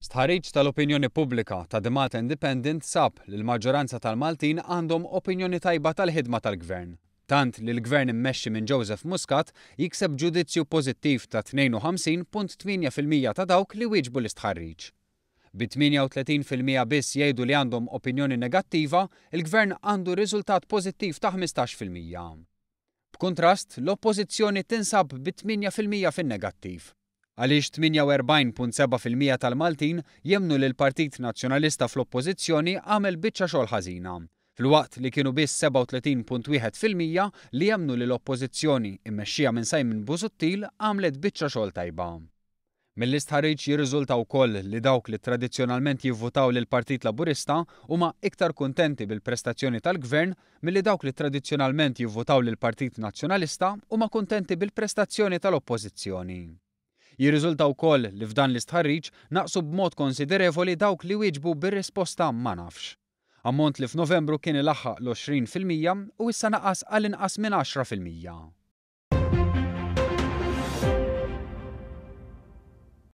Stħarriġ tal-opinjoni pubblika ta' The Malta Independent sab li l-maġġoranza tal-Maltin għandhom opinjoni tajba tal-ħidma tal-Gvern. Tant li l-Gvern immexxi minn Joseph Muscat jikseb ġudizzju pożittiv ta' 52.8% ta' dawk li wieġbu l-istħarriġ. Bi 38% biss jgħidu li għandhom opinjoni negattiva, il-Gvern għandu riżultat pożittiv ta' 15%. B'kuntrast, l-Oppożizzjoni tinsab bi 8% fin-negattiv. Għaliex 48.7% tal-Maltin jemmnu li l-Partit Nazzjonalista fl-Oppożizzjoni għamel biċċa xogħol ħażina, filwaqt li kienu biss 37.1% li jemmnu li l-Oppożizzjoni, immexxija minn Simon Busuttil, għamlet biċċa xogħol tajba. Mill-istħarriġ jirriżulta wkoll li dawk li tradizzjonalment jivvutaw lill-Partit Laburista huma iktar kuntenti bil-prestazzjoni tal-Gvern milli dawk li tradizzjonalment jivvutaw lill-Partit Nazzjonalista huma kuntenti bil-prestazzjoni tal-Oppożizzjoni. Jirriżulta wkoll li f'dan l-istħarriġ naqsu b'mod konsiderevoli dawk li wieġbu bir-risposta ma nafx. Ammont li f'Novembru kien ilaħħaq l-20% u issa naqas għal inqas minn 10%.